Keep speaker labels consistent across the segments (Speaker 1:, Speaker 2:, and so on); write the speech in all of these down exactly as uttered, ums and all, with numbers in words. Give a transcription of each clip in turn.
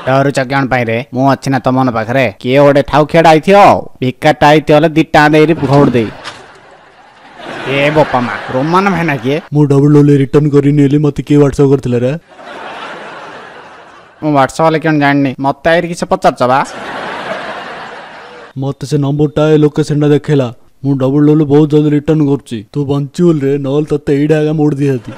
Speaker 1: ଡରୁଛ କଣ ପାଇଁ ରେ? ମୁଁ ଅଛି ନା ତମ ପାଖରେ। କିଏ ଗୋଟେ ଠାଉଖିଆଟା ଆଇଥିବ ଆଉ ଭିକାରଟା ଆଇଥିବ ହେଲେ ଦି ଟଙ୍କା ଦେଇରି ଘଉଡ଼ ଦେଇ। ଏ ବୋପା ମା, ରୋମାନ ଭାଇନା କିଏ?
Speaker 2: ମୁଁ ଡବଲ ଡବଲ ରିଟର୍ନ କରିନି ହେଲି, ମତେ କିଏ ହ୍ୱାଟ୍ସଆପ୍ କରିଥିଲା ରେ?
Speaker 1: ମୁଁ ହ୍ୱାଟ୍ସଆପ୍ ହେଲେ କଣ ଜାଣିନି, ମତେ ଆଇରି କିଛି ପଚାରୁଛ ବା?
Speaker 2: ମତେ ସେ ନମ୍ବରଟା ଏ ଲୋକେସନଟା ଦେଖେଇଲା। ମୁଁ ଡବଲ ଡବଲ ବହୁତ ଜଲ୍ଦି ରିଟର୍ନ କରୁଛି, ତୁ ବଞ୍ଚିବୁ ରେ, ନହେଲେ ତତେ ଏଇଟା ଆଗା ମୋଡ଼ି ଦେଇଥାନ୍ତି।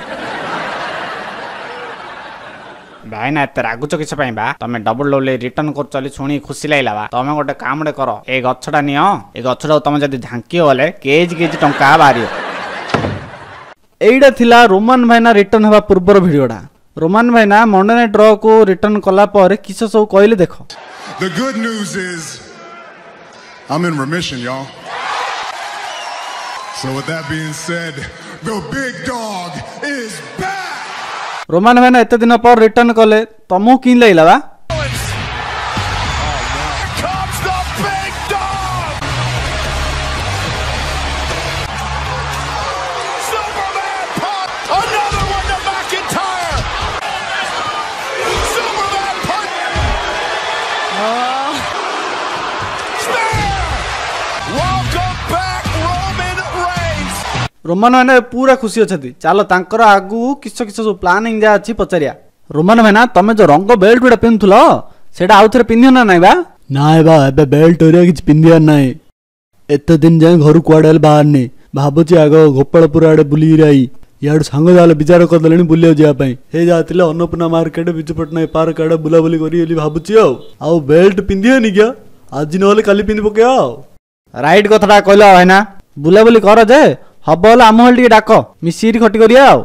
Speaker 1: ଭାଇନା ଏତେ ରାଗୁଛ କିଛି ପାଇଁ ବା? ତମେ ଡବଲ ଡବଲ ରିଟର୍ନ କରୁଛ ବୋଲି ଶୁଣି ଖୁସି ଲାଗିଲା ବା। ତମେ ଗୋଟେ କାମଟେ କର, ଏଇ ଗଛଟା ନିଅ, ଏ ଗଛଟାକୁ ତମେ ଯଦି ଝାଙ୍କିବ ବୋଲେ କେଜି କେଜି ଟଙ୍କା ବାହାରିବ।
Speaker 3: ଏଇଟା ଥିଲା ରୋମାନ ଭାଇନା ରିଟର୍ନ ହେବା ପୂର୍ବର ଭିଡ଼ିଓଟା। ରୋମାନ ଭାଇନା ମଣ୍ଡେ ନାଇଟ୍ ରକୁ ରିଟର୍ନ କଲା ପରେ କିସ ସବୁ କହିଲେ ଦେଖ।
Speaker 4: The good news is I'm in remission, y'all. So with that being said, the big dog is back.
Speaker 3: Roman ଭାଇନା ଏତେ ଦିନ ପରେ ରିଟର୍ନ କଲେ, ତମକୁ କେମିତି ଲାଗିଲା ବା?
Speaker 4: Comes the big dog! Superman punt! Another one to McIntyre! Superman punt! Spear! Welcome back, Roman Reigns!
Speaker 3: Roman ଭାଇନା ପୁରା ଖୁସି ଅଛନ୍ତି। ଚାଲ ତାଙ୍କର ଆଗକୁ କିସ କିସ ସବୁ ପ୍ଲାନିଂ ଯାହା ଅଛି ପଚାରିବା। ରୋମାନ ଭାଇନା, ତମେ ଯୋଉ ରଙ୍ଗ ବେଲ୍ଟ ଗୁଡ଼ା ପିନ୍ଧୁଥିଲ ସେଇଟା ଆଉ ଥରେ ପିନ୍ଧିବ ନା ନାଇଁ ବା?
Speaker 2: ନାଇଁ ବା, ଏବେ ବେଲ୍ଟ ହେରିକା କିଛି ପିନ୍ଧିବାର ନାହିଁ। ଏତେ ଦିନ ଯାଏଁ ଘରୁ କୁଆଡ଼େ ହେଲେ ବାହାରିନି। ଭାବୁଛି ଆଗ ଗୋପାଳପୁର ଆଡ଼େ ବୁଲିକିରି I. ଇଆଡ଼ୁ ସାଙ୍ଗ ଯାହେଲେ ବିଚାର କରିଦେଲେଣି ବୁଲିବାକୁ ଯିବା ପାଇଁ। ହେ ଯାହାଥିଲେ ଅନ୍ନପୂର୍ଣ୍ଣା ମାର୍କେଟ, ବିଜୁ ପଟ୍ଟନାୟକ ପାର୍କ ଆଡ଼େ ବୁଲାବୁଲି କରି ବୋଲି ଭାବୁଛି। ଆଉ ଆଉ ବେଲ୍ଟ ପିନ୍ଧିବେନି କିଆ, ଆଜି ନହେଲେ କାଲି ପିନ୍ଧି ପକେଇବା। ଆଉ
Speaker 3: ରାଇଟ୍ କଥାଟା କହିଲ ଭାଇନା। ବୁଲାବୁଲି କର ଯେ, ହବ ହେଲେ ଆମ ହେଲେ ଟିକେ ଡାକ, ମିଶିକିରି ଖଟି କରିବା। ଆଉ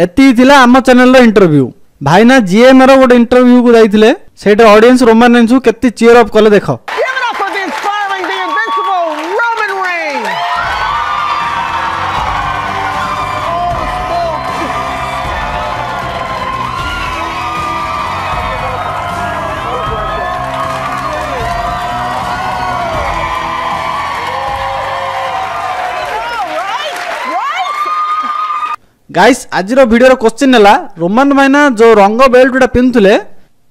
Speaker 3: ଏତିକି ଥିଲା ଆମ ଚ୍ୟାନେଲର ଇଣ୍ଟରଭ୍ୟୁ। ଭାଇନା ଜିଏମ୍ ର ଗୋଟେ ଇଣ୍ଟରଭ୍ୟୁକୁ ଯାଇଥିଲେ, ସେଇଟା ଅଡିଏନ୍ସ ରୋମାନ ରେନ୍ସକୁ କେତେ ଚିୟର ଅପ୍ କଲେ ଦେଖ।
Speaker 5: Give it up for the inspiring, the invincible Roman Reigns! Right? Right?
Speaker 3: Guys, ଆଜିର ଭିଡ଼ିଓର କ୍ୱେଶ୍ଚିନ୍ ହେଲା, ରୋମାନ ଭାଇନା ଯୋଉ ରଙ୍ଗ ବେଲ୍ଟ ଗୁଡ଼ା ପିନ୍ଧୁଥିଲେ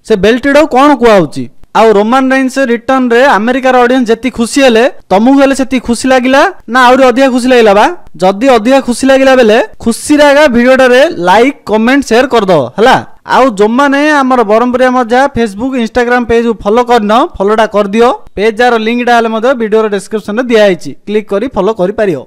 Speaker 3: ସେ ବେଲ୍ଟଟାକୁ କ'ଣ କୁହାହଉଛି? ଆଉ ରୋମାନ ରେନ୍ସ ରିଟର୍ନରେ ଆମେରିକାର ଅଡିଏନ୍ସ ଯେତିକି ଖୁସି ହେଲେ, ତମକୁ ହେଲେ ସେତିକି ଖୁସି ଲାଗିଲା ନା ଆହୁରି ଅଧିକା ଖୁସି ଲାଗିଲା ବା? ଯଦି ଅଧିକା ଖୁସି ଲାଗିଲା ବେଲେ ଖୁସିରେ ଆଗା ଭିଡ଼ିଓଟାରେ ଲାଇକ୍ କମେଣ୍ଟ ସେୟାର କରିଦବ ହେଲା। ଆଉ ଯୋଉମାନେ ଆମର ବ୍ରହ୍ମପୁରିଆ ମଜା ଫେସବୁକ୍ ଇନଷ୍ଟାଗ୍ରାମ ପେଜକୁ ଫଲୋ କରିନ, ଫଲୋଟା କରିଦିଅ। ପେଜ ଯାର ଲିଙ୍କଟା ହେଲେ ମଧ୍ୟ ଭିଡ଼ିଓର ଡେସ୍କ୍ରିପସନରେ ଦିଆହେଇଛି, କ୍ଲିକ୍ କରି ଫଲୋ କରିପାରିବ।